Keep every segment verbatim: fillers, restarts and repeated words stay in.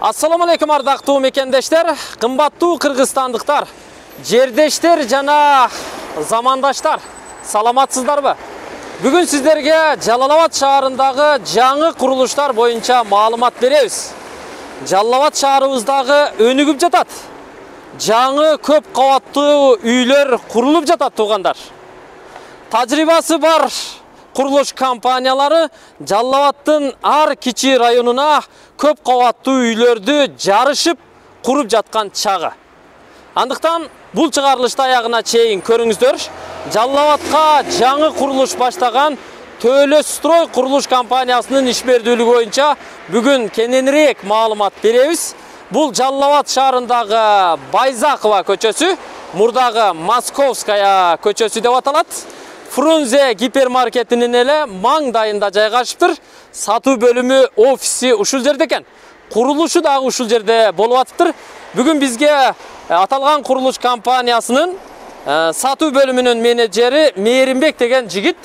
Assalamu alaikum ардактуу мекендештер, кымбаттуу кыргызстандыктар, жердештер жана замандаштар. Саламатсыздарбы? Бүгүн сиздерге Жалал-Абад шаарындагы жаңы курулуштар боюнча маалымат беребиз. Жалал-Абад шаарыбыздагы өнүгүп жатат. Жаңы көп кабаттуу үйлөр курулуп жатат туугандар. Тажрыйбасы бар курулуш компаниялары Жалал-Абадтын ар кичи районуна көп кабаттуу үйлөрдү жарышып куруп жаткан чагы. Андыктан бул чыгарылышты аягына чейин көрүңүздөр. Жалал-Абадка жаңы курулуш баштаган Төлөстрой курулуш компаниясынын ишмердүүлүгү боюнча бүгүн кененирээк маалымат беребиз. Бул Жалал-Абад шаарындагы Байзакова көчөсү, мурдагы Московская көчөсү деп аталат. Фрунзе гипермаркетинин эле маңдайында жайгашыптыр. Сатуу бөлүмү, офиси ушул жерде экен. Курулушу дагы ушул жерде болуп атыптыр. Бүгүн бизге аталган курулуш компаниясынын сатуу бөлүмүнүн менеджери Мээримбек деген жигит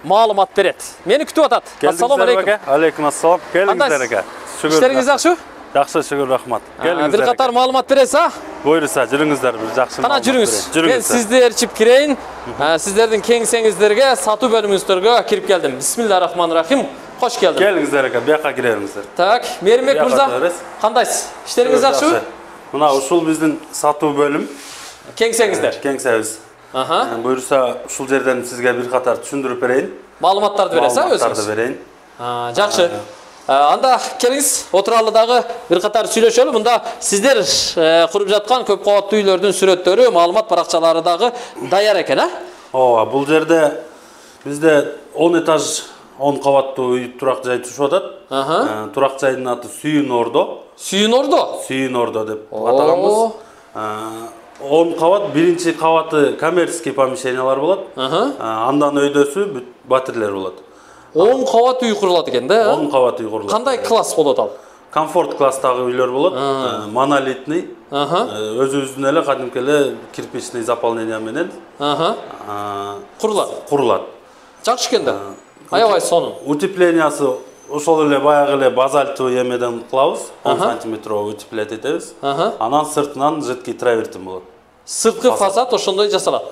маалымат берет. Мени күтүп атат. Ассаламу алейкум. Алейкум ассалам. Келиңиздер ака. Иштериңиз жакшы? Жакшы, шүгүр, рахмат. Келиңиздер. Бир катар маалымат бересиз, а? Буйруса, жүрүңүздөр, бир жакшы. Кана жүрүңүз. Мен сизди ээрчип кирейин. Сиздердин кеңсеңиздерге, сатуу бөлүмүңүздөргө кирип келдим. Бисмиллахиррахманиррахим. Кош келдиңиз. Келиңиздер ака, бияка кирериңиздер. Так, Мээримбек мырза, кандайсыз? Иштериңиз жакшыбы? Мына ушул биздин сатуу бөлүм. Кеңсеңиздер. Кеңсебиз. Аха. Буйруса, ушул жерден сизге бир катар түшүндүрүп берейин. Маалыматтарды бересиз, а өзүңүз? Маалыматтарды берейин. Жакшы. Анда келиңиз, отыралы дагы бир катар сүйлөшөлү. Мында сиздер куруп жаткан көп кабаттуу үйлөрдүн сүрөттөрү, маалымат баракчалары дагы даяр экен, а? Ооба, бул жерде бизде он этаж, он кабаттуу үй турак жай түшүп атат. Турак жайдын аты Сүйүн Ордо. Сүйүн Ордо? Сүйүн Ордо деп атаганбыз. он кабат, биринчи кабаты коммерческий помещениялар болот. Андан өйдөсү батирлер болот. он кабат үй курулат экен да? он кабат үй курулат. Кандай класс болот ал? Комфорт класстагы үйлөр болот. Монолитный. Өзүбүздүн эле кадимки эле кирпичный заполнение менен курулат. Курулат. Жакшы экен да. Аябай сонун. Утеплениясы ошол эле баягы эле базальтовый эмеден кылабыз. он сантиметровый утеплять этебиз. Анан сыртынан жидкий травертин болот. Сырткы фасад ошондой жасалат.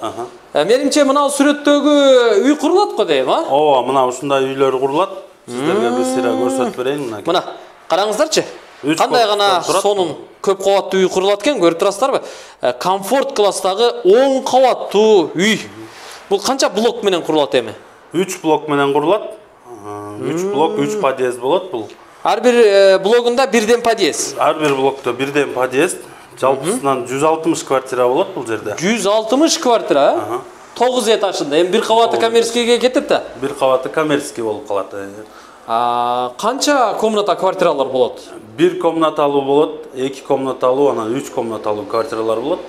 Менимче мына сүрөттөгү үй курулат го дейм, а? Ооба, мына ушундай үйлөр курулат. Сиздерге бир сыйра көрсөтүп берейин мына. Мына, караңыздарчы. Кандай гана сонун көп кабаттуу үй курулат экен, көрүп турасыздарбы? Комфорт класстагы он кабаттуу үй. Бул канча блок менен курулат эми? үч блок менен курулат. үч блок, үч подъезд болот бул. Ар бир блогунда бирден подъезд. Ар бир блокто бирден подъезд. Жалпысынан жүз алтымыш квартира болот бул жерде. жүз алтымыш квартира? тогуз этажында. Эми бир кабаты коммерческийге кетип да? Бир кабаты коммерческий болуп калат. Канча комната квартиралар болот? Бир комнаталуу болот, эки комнаталуу, анан үч комнаталуу квартиралар болот.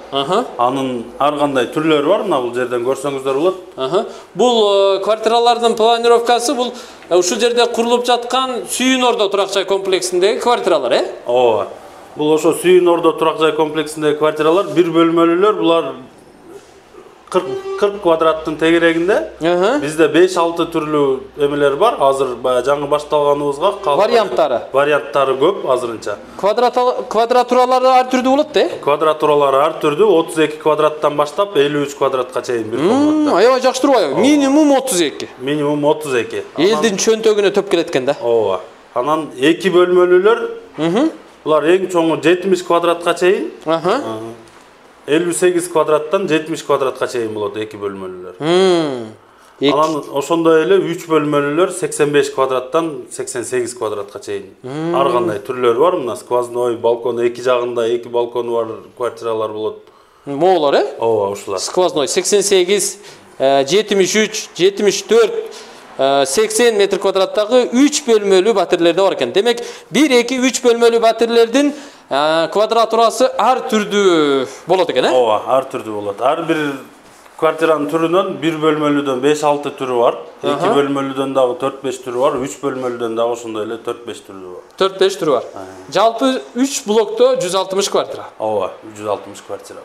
Анын ар кандай түрлөрү бар, мына бул жерден көрсөңүздөр болот. Бул квартиралардын планировкасы бул ушул жерде курулуп жаткан Сүйүн Ордо турак жай комплексиндеги квартиралар, э? Ооба. Бул ошо Сүйүн Ордо турак жай комплексиндеги квартиралар, бир бөлмөлүүлөр, булар кырк квадраттын тегерегинде. Бизде беш алты түрлүү эмелер бар. Азыр баягы жаңы башталганыбызга варианттары. Варианттары көп азырынча. Квадратуралары ар түрдүү болот да? Квадратуралары ар түрдүү, отуз эки квадраттан баштап элүү үч квадратка чейин бир комната. Аябай жакшы турбайбы? Минимум отуз эки. Минимум отуз эки. Элдин чөнтөгүнө төп келет экен да. Ооба. Анан эки бөлмөлүүлөр. Булар эң чоңу жетимиш квадратка чейин. элүү сегиз квадраттан жетимиш квадратка чейин болот эки бөлмөлүүлөр. Анан ошондой эле үч бөлмөлүүлөр сексен беш квадраттан сексен сегиз квадратка чейин. Ар кандай түрлөрү бар. Мына сквозной балкон эки жагында эки балкону бар квартиралар болот. Моолор, э? Ооба, ушулар. Сквозной сексен сегиз, жетимиш үч, жетимиш төрт, сексен метр квадраттагы үч бөлмөлүү батирлерде бар экен. Демек, бир, эки, үч бөлмөлүү батирлердин квадратурасы ар түрдүү болот экен, э? Ооба, ар түрдүү болот. Ар бир квартиранын түрүнөн бир бөлмөлүүдөн беш алты түрү бар. эки бөлмөлүүдөн дагы төрт беш түрү бар. үч бөлмөлүүдөн дагы ошондой эле төрт беш түрү бар. төрт беш түрү бар. Жалпы үч блокто жүз алтымыш квартира. Ооба, жүз алтымыш квартира.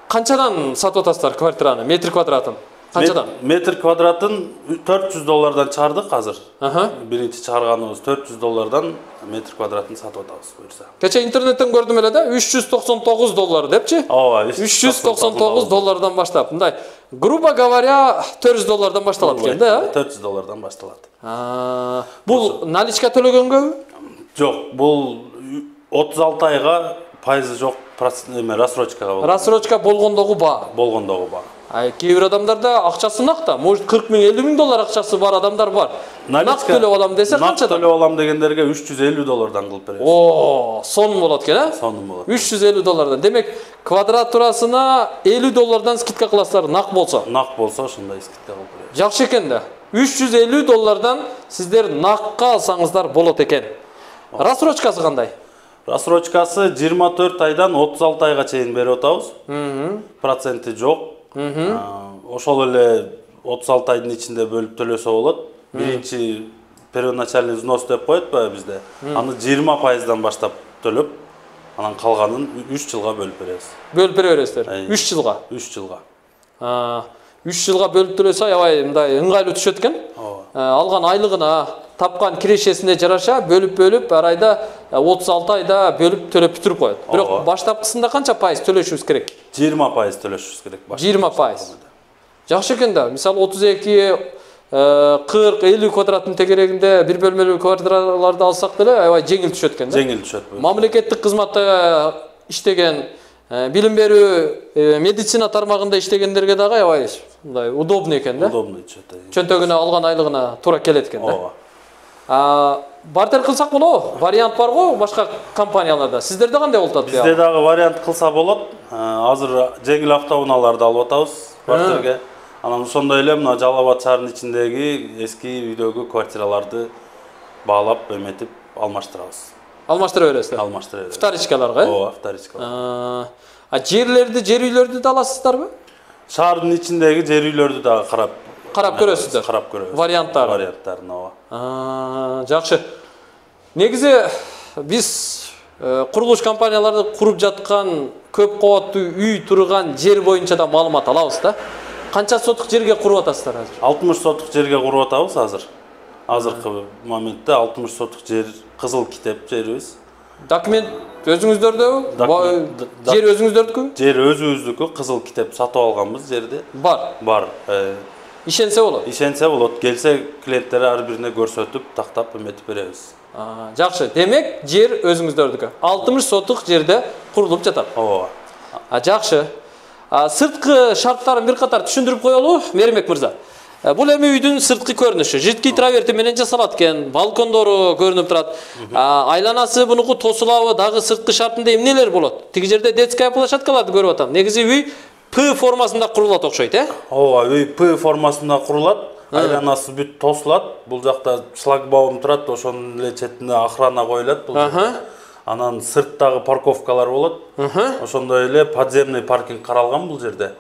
Канчадан сатып атасыздар квартираны, метр квадратын? Канчадан? Метр квадратын төрт жүз доллардан чыгардык азыр. Аха. Биринчи чыгарганыбыз төрт жүз доллардан метр квадратын сатып атабыз буюрса. Кече интернеттен көрдүм эле да, үч жүз токсон тогуз доллар депчи? Ооба, үч жүз токсон тогуз доллардан баштап. Мындай, грубо говоря, төрт жүз доллардан башталат экен да? төрт жүз доллардан башталат. А, бул наличка төлөгөнгө? Жок, бул отуз алты айга пайызы жок, эме рассрочкага болот. Рассрочка болгондогу баа. Болгондогу баа. Ай, кээ бир адамдарда акчасы нак да, может кырк миң, элүү миң доллар акчасы бар адамдар бар. Нак төлөп алам десе канчадан? Нак төлөп алам дегендерге үч жүз элүү доллардан кылып беребиз. О, сонун болот экен, а? Сонун болот. үч жүз элүү доллардан. Демек, квадратурасына элүү доллардан скидка кыласыздар, нак болсо. Нак болсо ошондой скидка кылып беребиз. Жакшы экен да. үч жүз элүү доллардан сиздер накка алсаңыздар болот экен. Рассрочкасы кандай? Рассрочкасы жыйырма төрт айдан отуз алты айга чейин берип атабыз. Проценти жок. Ошол эле отуз алты айдын ичинде бөлүп төлөсө болот. Биринчи первоначальный взнос деп коет баягы бизде. Аны жыйырма пайыздан баштап төлөп, анан калганын үч жылга бөлүп беребиз. Бөлүп бере бересиздер. үч жылга. үч жылга. А, үч жылга бөлүп төлөсө аябай мындай ыңгайлуу түшөт экен. Алган айлыгына, тапкан кирешесине жараша бөлүп-бөлүп ар айда отуз алты айда бөлүп төлөп бүтүрүп коет. Бирок баштапкысында канча пайыз төлөшүбүз керек? жыйырма пайыз төлөшүбүз керек. жыйырма пайыз. Жакшы экен да. Мисалы отуз эки, кырк, элүү квадраттын тегерегинде бир бөлмөлүү квартираларды алсак деле аябай жеңил түшөт экен да. Жеңил түшөт. Мамлекеттик кызматта иштеген, билим берүү, медицина тармагында иштегендерге дагы аябай мындай удобный экен да. Удобный түшөт. Чөнтөгүнө алган айлыгына туура келет экен да. А, бартер кылсак болобу? Вариант бар го башка компанияларда. Сиздерде кандай болуп атат? Бизде дагы вариант кылса болот. Азыр жеңил автоунааларды алып атабыз бартерге. Анан ошондой эле мына Жалал Абад шаарынын ичиндеги эски үйдөгү квартираларды баалап, эметип алмаштырабыз. Алмаштыра бересиздер. Алмаштыра беребиз. Вторичкаларга, э? Ооба, вторичкалар. А жерлерди, жер үйлөрдү да аласыздарбы? Шаардын ичиндеги жер үйлөрдү дагы карап Карап көрөсүздөр. Карап көрөбүз. Варианттар. Варианттарын, ооба. А, жакшы. Негизи биз курулуш компанияларды куруп жаткан көп кабаттуу үй турган жер боюнча да маалымат алабыз да. Канча сотук жерге куруп атасыздар азыр? алтымыш сотук жерге куруп атабыз азыр. Азыркы моментте алтымыш сотук жер кызыл китеп жерибиз. Документ өзүңүздөрдө? Жер өзүңүздөрдүкү? Жер өзүбүздүкү, кызыл китеп сатып алганбыз жерди. Бар. Бар. Ишенсе болот. Ишенсе болот. Келсе клиенттер ар бирине көрсөтүп, тактап эметип беребиз. Жакшы. Демек, жер өзүңүздөрдүкү. алтымыш сотук жерде курулуп жатат. Ооба. Жакшы. Сырткы шарттарын бир катар түшүндүрүп коелу, Меримбек мырза. Бул эми үйдүн сырткы көрүнүшү. Жидкий траверти менен жасалат экен, балкондору көрүнүп турат. Айланасы бунуку тосулабы, дагы сырткы шартында эмнелер болот? Тиги жерде детская площадкаларды көрүп атам. Негизи үй П формасында курулат окшойт, э? Ооба, үй П формасында курулат. Айланасы бүт тосулат. Бул жакта шлагбаум турат, ошонун эле четине охрана коюлат бул. Анан сырттагы парковкалар болот. Ошондой эле подземный паркинг каралган бул жерде.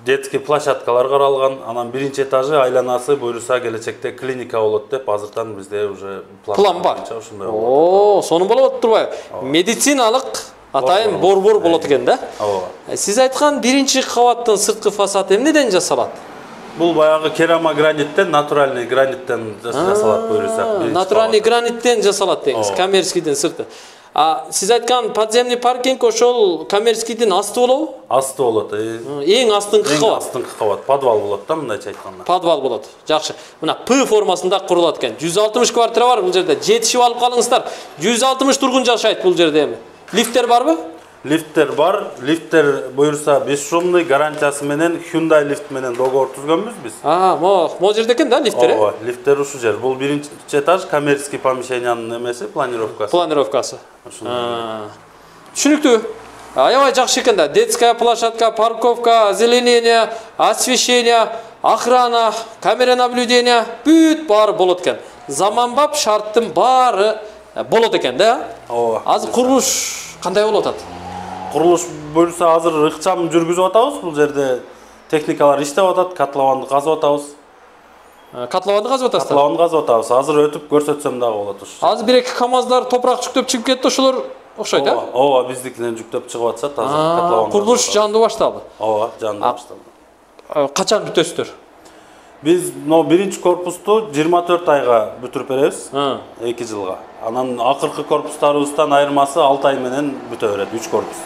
Детский площадкалар каралган. Анан биринчи этажы айланасы буюрса келечекте клиника болот деп азыртан бизде уже план бар. Ошондой. О, сонун болуп турбайбы? Медициналык атайын борбор болот экен да? Ооба. Сиз айткан биринчи кабаттын сырткы фасады эмнеден жасалат? Бул баягы керамограниттен, натуральный граниттен жасалат буюрсак. Натуральный граниттен жасалат деңиз, коммерческийдин сырты. А сиз айткан подземный паркинг ошол коммерческийдин асты болобу? Асты болот. Эң астыңкы кабат. Эң астыңкы кабат, подвал болот да, мындайча айтканда. Подвал болот. Жакшы. Мына П формасында курулат экен. жүз алтымыш квартира бар бул жерде. Жетишип алып калыңыздар. жүз алтымыш тургун жашайт бул жерде эми. Лифттер барбы? Лифттер бар. Лифттер буюрса бесшумный гарантиясы менен Hyundai лифт менен договор түзгөнбүз биз. А, мо, мо жерде экен да лифттер? Ооба, лифттер ушул жер. Бул биринчи этаж коммерческий помещениянын эмеси, планировкасы. Планировкасы. Түшүнүктүү. Аябай жакшы экен да. Детская площадка, парковка, озеленение, освещение, охрана, камера наблюдения бүт баары болот экен. Заманбап шарттын баары болот экен да? Ооба. Азыр курулуш кандай болуп атат? Курулуш буюрса азыр ыкчам жүргүзүп атабыз. Бул жерде техникалар иштеп атат, котлованды казып атабыз. Котлованды казып атасыздар? Котлованды казып атабыз. Азыр өтүп көрсөтсөм дагы болот ушу. Азыр бир-эки камаздар топурак жүктөп чыгып кетти, ошолор окшойт, э? Ооба, биздикинен жүктөп чыгып атышат азыр котлованды. Курулуш жанды башталды. Ооба, жанды башталды. качан бүтөсүздөр? Биз но биринчи корпусту жыйырма төрт айга бүтүрүп беребиз. эки жылга. Анан акыркы корпустарыбыздан айырмасы алты ай менен бүтө берет, үч корпус.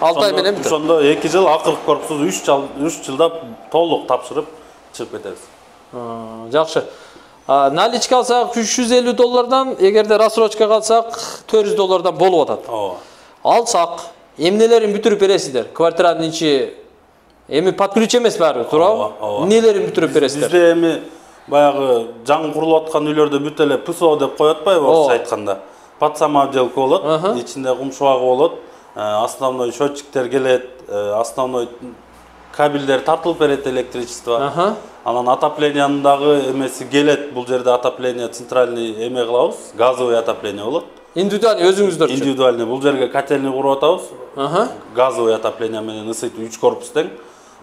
алты ай менен бүтөт. Ошондо эки жыл, акыркы корпусу үч жыл, үч жылда толук тапшырып чыгып кетебиз. Жакшы. Наличка алсак үч жүз элүү доллардан, эгерде рассрочка калсак төрт жүз доллардан болуп атат. Ооба. Алсак, эмнелерин бүтүрүп бересиздер? Квартиранын ичи эми под ключ эмес баары, туурабы? Эмнелерин бүтүрүп бересиздер? Бизде эми баягы жаңы курулуп аткан үйлөрдө бүт эле ПСО деп коюп атпайбы, орусча айтканда. Подсамоделка болот, ичинде кум шубагы болот, основной счетчиктер келет, основной кабелдер тартылып берет, электричество. Анан отоплениянын дагы эмеси келет, бул жерде отопление центральный эме кылабыз, газовый отопление болот. Индивидуальный өзүңүздөр үчүн. Индивидуальный, бул жерге котельный куруп атабыз. Газовый отопление менен ысытуу үч корпус тең.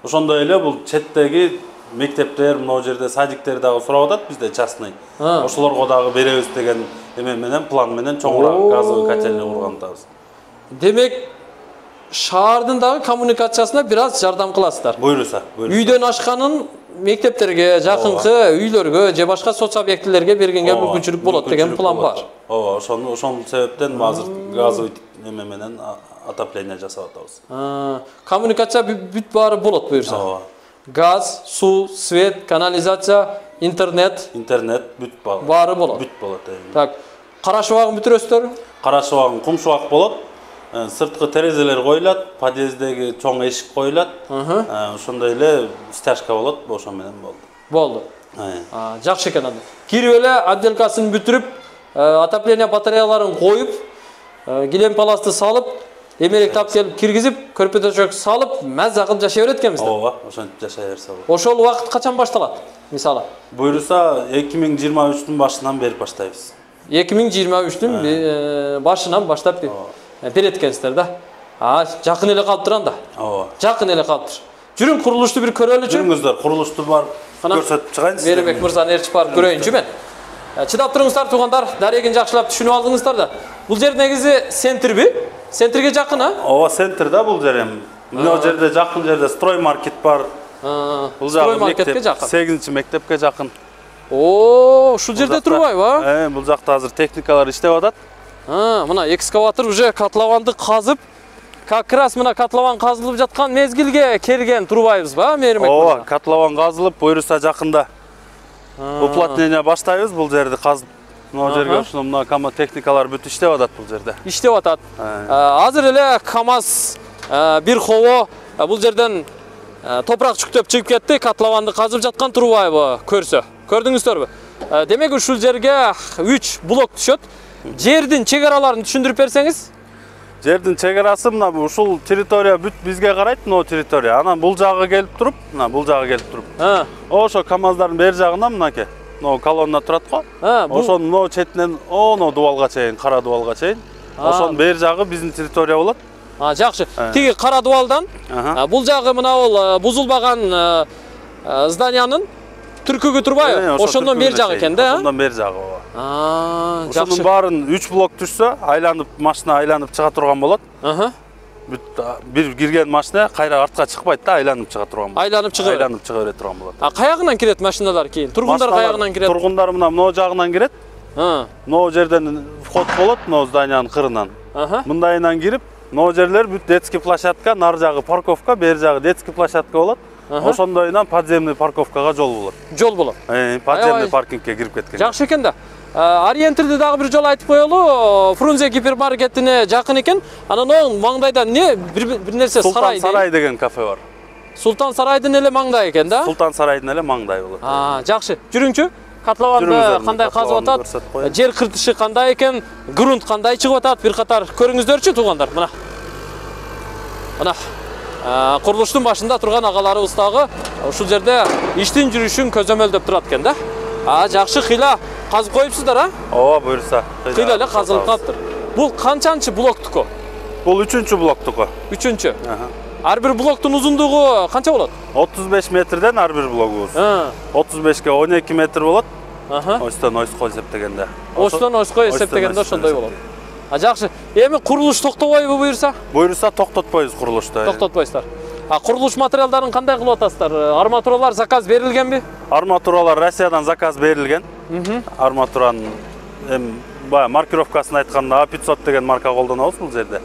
Ошондой эле бул четтеги мектептер, мына жерде садиктер дагы сурап атат бизде частный. Ошолорго дагы беребиз деген эме менен, план менен чоңураак газовый котельный курган атабыз. Демек, шаардын дагы коммуникациясына бир аз жардам кыласыздар. Буйруса, буйруса. Үйдөн ашканын мектептерге, жакынкы үйлөргө же башка соц объектилерге бергенге мүмкүнчүлүк болот деген план бар. Ооба, ошону ошол себептен азыр газовый эме менен отопление жасап атабыз. Коммуникация бүт баары болот буюрса. Ооба. Газ, суу, свет, канализация, интернет. Интернет бүт баары. Баары болот. Бүт болот. Так, кара шубагын бүтүрөсүздөр? Кара шубагын кум шубак болот. Сырткы терезелер коюлат, подъездеги чоң эшик коюлат. Ошондой эле стяжка болот, ошо менен болду. Болду. Жакшы экен анда. Кирип эле отделкасын бүтүрүп, отопление батареяларын коюп, килем паласты салып, эмелек тап келип киргизип, көрпө-төшөк салып, маза кылып жашай берет экенбиз. Ооба, ошентип жашай берсе болот. Ошол убакыт качан башталат? Мисалы. Буйруса эки миң жыйырма үчтүн башынан бери баштайбыз. эки миң жыйырма үчтүн башынан баштап берет экенсиздер да. А, жакын эле калыптыр анда. Ооба. Жакын эле калыптыр. Жүрүң курулушту бир көрөлүчү. Жүрүңүздөр, курулушту бар көрсөтүп чыгайын сизге. Беребек мырзаны ээрчип барып көрөйүнчү мен. Чыдап туруңуздар туугандар, дарегин жакшылап түшүнүп алдыңыздар да. Бул жер негизи центрби? Центрге жакын, а? Ооба, центр да бул жер эми. Мына жерде жакын жерде строймаркет бар. Бул строймаркетке жакын. сегизинчи мектепке жакын. О, ушул жерде турбайбы, а? Э, бул жакта азыр техникалар иштеп атат. А, мына экскаватор уже котлованды казып, как раз мына котлован казылып жаткан мезгилге келген турбайбызбы, а, Мээримбек мырза? Ооба, котлован казылып, буйруса жакында уплотнение баштайбыз бул жерди казып. Мына жерге ушуну мына КАМАЗ техникалар бүт иштеп атат бул жерде. Иштеп атат. Азыр эле КАМАЗ бир хобо бул жерден топурак жүктөп чыгып кетти, котлованды казып жаткан турбайбы көрсө. Көрдүңүздөрбү? Демек ушул жерге үч блок түшөт. Жердин чек-араларын түшүндүрүп берсеңиз? Жердин чек-арасы мына ушул территория бүт бизге карайт, мына территория. Анан бул жагы келип туруп, мына бул жагы келип туруп. Ошо КАМАЗдардын бер жагына мынакей. Мына колонна турат го. Ошонун мына четинен оно дубалга чейин, кара дубалга чейин. Ошонун бер жагы биздин территория болот. А, жакшы. Тиги кара дубалдан бул жагы мына бул бузулбаган зданиянын түркүгү турбайбы? Ошондон бер жагы экен да? Ошондон бер жагы. А, жакшы. Ошонун баарын үч блок түшсө, айланып машина айланып чыга турган болот. Аха. Бүт бир кирген машина кайра артка чыкпайт да, айланып чыга турган болот. Айланып чыга берет. Айланып чыга бере турган болот. А каягынан кирет машиналар кийин? Тургундар каягынан кирет? Тургундар мына мына жагынан кирет. Мына жерден вход болот, мына зданиянын кырынан. Мындайынан кирип, мына жерлер бүт детский площадка, нар жагы парковка, бер жагы детский площадка болот. Ошондойнан подземный парковкага жол болот. Жол болот. Э, подземный паркингке кирип кеткен. Жакшы экен да. Ориентирди дагы бир жолу айтып коелу. Фрунзе гипермаркетине жакын экен. Анан оң маңдайда не бир нерсе сарай. Султан сарай деген кафе бар. Султан сарайдын эле маңдай экен да? Султан сарайдын эле маңдай болот. А, жакшы. Жүрүңчү. Котлованды кандай казып атат? Жер кыртышы кандай экен? Грунт кандай чыгып атат? Бир катар көрүңүздөрчү туугандар. Мына. Мына. Курулуштун башында турган агаларыбыз дагы ушул жерде иштин жүрүшүн көзөмөлдөп турат экен да. А, жакшы кыйла казып коюпсуздар, а? Ооба, буюрса. Кыйла эле казылып калыптыр. Бул канчанчы блоктуку? Бул үчүнчү блоктуку. Үчүнчү. Ар бир блоктун узундугу канча болот? отуз беш метрден ар бир блогубуз. отуз бешке он эки метр болот. Остон ойской эсептегенде. Остон ойской эсептегенде ошондой болот. А, жакшы. Эми курулуш токтобойбу буюрса? Буюрса токтотпойбуз курулушту. Токтотпойсуздар. А курулуш материалдарын кандай кылып атасыздар? Арматуралар заказ берилгенби? Арматуралар Россиядан заказ берилген. Арматуранын эми баягы маркировкасын айтканда А пятьсот деген марка колдонобуз бул жерде.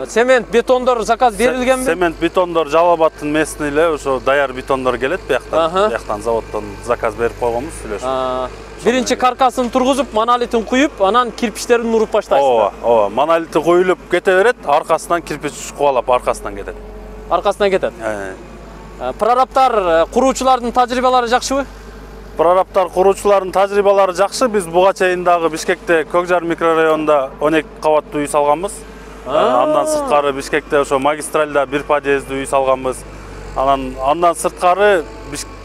Цемент, бетондор заказ берилгенби? Цемент, бетондор Жалал Абадтын местный эле ошо даяр бетондор келет бияктан. Бияктан заводдон заказ берип койгонбуз, сүйлөшүп. Биринчи каркасын тургузуп, монолитин куюп, анан кирпичтерин уруп баштайсыздар. Ооба, ооба. Монолити куюлуп кете берет, аркасынан кирпич кубалап аркасынан кетет. Аркасынан кетет. Прораптар, куруучулардын тажрыйбалары жакшыбы? Прораптар, куруучулардын тажрыйбалары жакшы. Биз буга чейин дагы Бишкекте Көкжар микрорайонунда он эки кабаттуу үй салганбыз. Андан сырткары Бишкекте ошо магистральда бир подъездүү үй салганбыз. Анан андан сырткары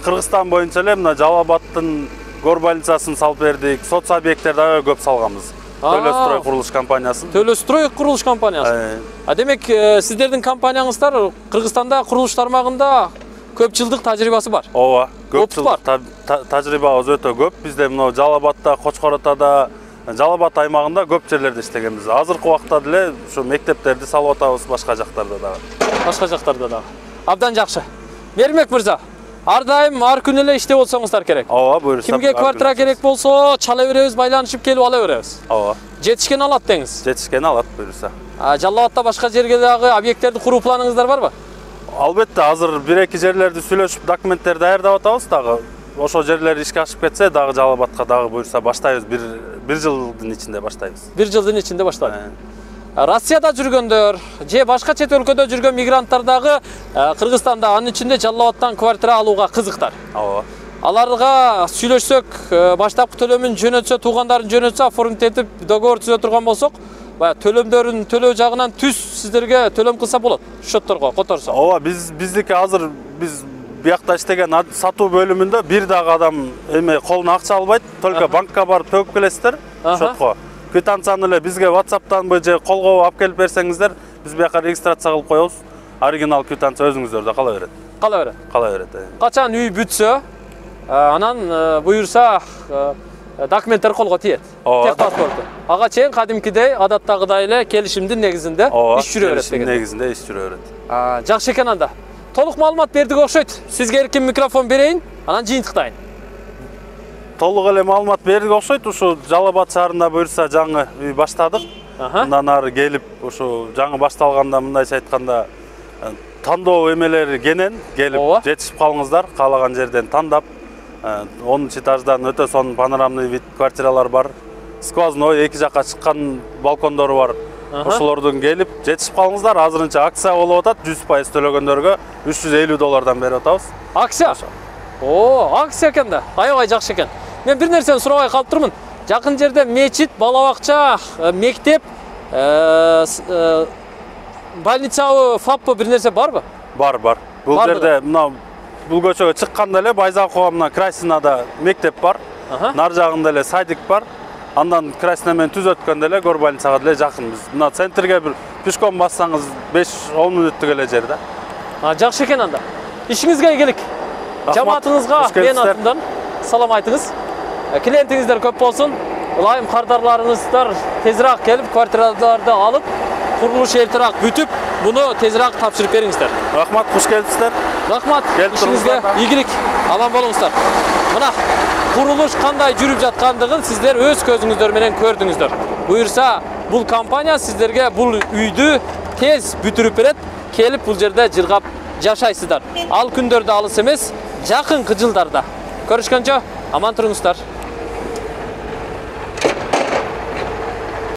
Кыргызстан боюнча эле мына Жалал Абадтын гор больницасын салып бердик. Соц объекттер дагы көп салганбыз. Төлөстрой курулуш компаниясын. Төлөстрой курулуш компаниясы. А демек сиздердин компанияңыздар Кыргызстанда курулуш тармагында көп жылдык тажрыйбасы бар. Ооба, көп жылдык тажрыйбабыз өтө көп. Бизде мына Жалал Абадта, Кочкор Атада, Жалал Абад аймагында көп жерлерде иштегенбиз. Азыркы убакта деле ушу мектептерди салып атабыз башка жактарда дагы. Башка жактарда дагы. Абдан жакшы. Меримбек мырза, ар дайым ар күнү эле иштеп отсоңуздар керек. Ооба, буюрса. Кимге квартира керек болсо, чала беребиз, байланышып келип ала беребиз. Ооба. Жетишкен алат деңиз. Жетишкен алат, буюрса. А Жалал Абадта башка жерге дагы объекттерди куруу планыңыздар барбы? Албетте, азыр бир-эки жерлерди сүйлөшүп, документтер даярдап атабыз дагы. Ошол жерлер ишке ашып кетсе, дагы Жалал Абадка дагы буюрса баштайбыз. Бир бир жылдын ичинде баштайбыз. Бир жылдын ичинде баштайбыз. Россияда жүргөндөр же башка чет өлкөдө жүргөн мигранттар дагы Кыргызстанда, анын ичинде Жалал Абадтан квартира алууга кызыктар. Ооба. Аларга сүйлөшсөк, баштапкы төлөмүн жөнөтсө, туугандарын жөнөтсө, оформить этип договор түзө турган болсок, баягы төлөмдөрүн төлөө жагынан түз сиздерге төлөм кылса болот, счетторго которсо. Ооба, биз биздики азыр биз биякта иштеген сатуу бөлүмүндө бир дагы адам эме колуна акча албайт, только банкка барып төгүп келесиздер, счетко. Квитанцияны эле бизге WhatsApp'тан же колго алып келип берсеңиздер, биз бияка регистрация кылып коебуз. Оригинал квитанция өзүңүздөрдө кала берет. Кала берет. Кала берет. Качан үй бүтсө, анан буюрса документтер колго тиет. Техпаспорту. Ага чейин кадимкидей, адаттагыдай эле келишимдин негизинде иш жүрө берет деген. Негизинде иш жүрө берет. Жакшы экен анда. Толук маалымат бердик окшойт. Сизге эркин микрофон берейин, анан жыйынтыктайын. Толук эле маалымат бердик окшойт. Ушу Жалал Абад шаарында буюрса жаңы үй баштадык. Андан ары келип, ушу жаңы башталганда мындайча айтканда тандоо эмелери кенен келип жетишип калыңыздар, каалаган жерден тандап. онунчу этаждан өтө сонун панорамный вид квартиралар бар. Сквозной эки жакка чыккан балкондору бар. Ошолордон келип жетишип калыңыздар. Азырынча акция болуп атат. жүз пайыз төлөгөндөргө үч жүз элүү доллардан берип атабыз. Акция? О, акция экен да. Аябай жакшы экен. Мен бир нерсени сурабай калып турмун. Жакын жерде мечит, бала бакча, мектеп, больницабы, фаппы бир нерсе барбы? Бар, бар. Бул жерде мына бул көчөгө чыкканда эле Байзакова мына Красинада мектеп бар. Нар жагында эле садик бар. Андан Красина менен түз өткөндө эле гор больницага деле жакынбыз. Мына центрге бир пешком бассаңыз беш он мүнөттүк эле жерде. А, жакшы экен анда. Ишиңизге ийгилик. Жамаатыңызга мен атымдан салам айтыңыз. Клиентиңиздер көп болсун. Ылайым кардарларыңыздар тезирээк келип, квартираларды алып, курулуш эртерээк бүтүп, буну тезирээк тапшырып бериңиздер. Рахмат, куш келипсиздер. Рахмат, ишиңизге ийгилик. Аман болуңуздар. Мына курулуш кандай жүрүп жаткандыгын сиздер өз көзүңүздөр менен көрдүңүздөр. Буюрса, бул компания сиздерге бул үйдү тез бүтүрүп берет. Келип бул жерде жыргап жашайсыздар. Ал күндөрдө алыс эмес, жакынкы жылдарда. Көрүшкөнчө аман туруңуздар.